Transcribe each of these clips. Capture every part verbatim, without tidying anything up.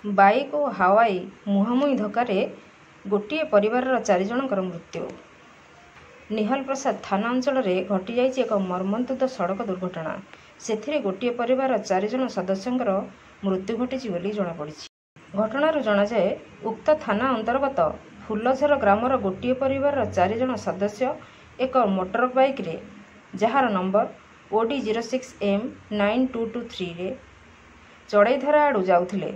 Bike ଓ Hawaii ମୁହାଁମୁହିଁ ଧକ୍କାରେ ଗୋଟିଏ ପରିବାରର ଚାରି ଜଣଙ୍କର ମୃତ୍ୟୁ। ନିହଲପ୍ରସାଦ ଥାନା ଅଞ୍ଚଳରେ ଘଟିଯାଇଛି ଏକ ମର୍ମନ୍ତୁଦ ସଡ଼କ ଦୁର୍ଘଟଣା। ସେଥିରେ ଗୋଟିଏ ପରିବାରର ଚାରି ଜଣ ସଦସ୍ୟଙ୍କର ମୃତ୍ୟୁ ଘଟିଛି ବୋଲି ଜଣାପଡ଼ିଛି। ଘଟଣାରୁ ଜଣାଯାଏ, ଉକ୍ତ ଥାନା ଅନ୍ତର୍ଗତ ଫୁଲଝର ଗ୍ରାମର ଗୋଟିଏ ପରିବାରର ଚାରି ଜଣ ସଦସ୍ୟ ଏକ ମୋଟର ବାଇକ୍ରେ, ଯାହାର number O D zero six M nine two two ଥ୍ରୀରେ Chadheidhara ଆଡ଼ୁ ଯାଉଥିଲେ।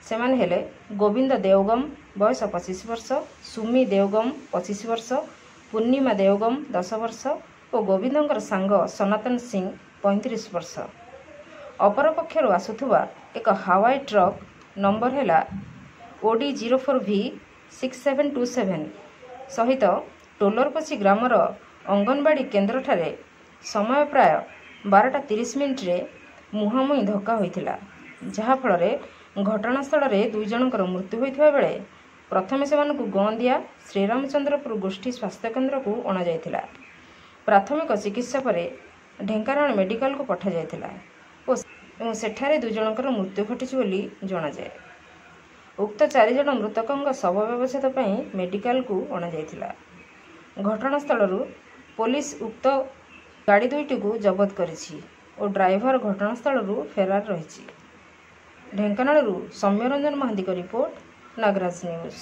ସେମାନେ ହେଲେ ଗୋବିନ୍ଦ ଦେଓଗମ, ବୟସ ପଚିଶ ବର୍ଷ, ସୁମି ଦେଓଗମ, ପଚିଶ ବର୍ଷ, ପୂର୍ଣ୍ଣିମା ଦେଓଗମ, ଦଶ ବର୍ଷ ଓ ଗୋବିନ୍ଦଙ୍କର ସାଙ୍ଗ ସନାତନ ସିଂ, ପଇଁତିରିଶ ବର୍ଷ। ଅପରପକ୍ଷରୁ ଆସୁଥିବା ଏକ ହାୱାଇ ଟ୍ରକ୍ ନମ୍ବର ହେଲା O D zero four V six seven two seven ସହିତ ଟୋଲରପୋଷି ଗ୍ରାମର ଅଙ୍ଗନବାଡ଼ି କେନ୍ଦ୍ରଠାରେ ସମୟ ପ୍ରାୟ ବାରଟା ତିରିଶ ମିନିଟ୍ରେ ମୁହାଁମୁହିଁ ଧକ୍କା ହୋଇଥିଲା, ଯାହାଫଳରେ ଘଟଣାସ୍ଥଳରେ ଦୁଇ ଜଣଙ୍କର ମୃତ୍ୟୁ ହୋଇଥିବା ବେଳେ ପ୍ରଥମେ ସେମାନଙ୍କୁ ଗଁଦିଆ ଶ୍ରୀରାମଚନ୍ଦ୍ରପୁର ଗୋଷ୍ଠୀ ସ୍ୱାସ୍ଥ୍ୟକେନ୍ଦ୍ରକୁ ଅଣାଯାଇଥିଲା। ପ୍ରାଥମିକ ଚିକିତ୍ସା ପରେ ଢେଙ୍କାନାଳ ମେଡିକାଲକୁ ପଠାଯାଇଥିଲା ଓ ଏବଂ ସେଠାରେ ଦୁଇ ଜଣଙ୍କର ମୃତ୍ୟୁ ଘଟିଛି ବୋଲି ଜଣାଯାଏ। ଉକ୍ତ ଚାରିଜଣ ମୃତକଙ୍କ ଶବ ବ୍ୟବଚ୍ଛେଦ ପାଇଁ ମେଡିକାଲକୁ ଅଣାଯାଇଥିଲା। ଘଟଣାସ୍ଥଳରୁ ପୋଲିସ ଉକ୍ତ ଗାଡ଼ି ଦୁଇଟିକୁ ଜବତ କରିଛି ଓ ଡ୍ରାଇଭର ଘଟଣାସ୍ଥଳରୁ ଫେରାର ରହିଛି। ଢେଙ୍କାନାଳରୁ ସୌମ୍ୟରଞ୍ଜନ ମହାନ୍ତିଙ୍କ ରିପୋର୍ଟ, ନାଗରାଜ ନ୍ୟୁଜ୍।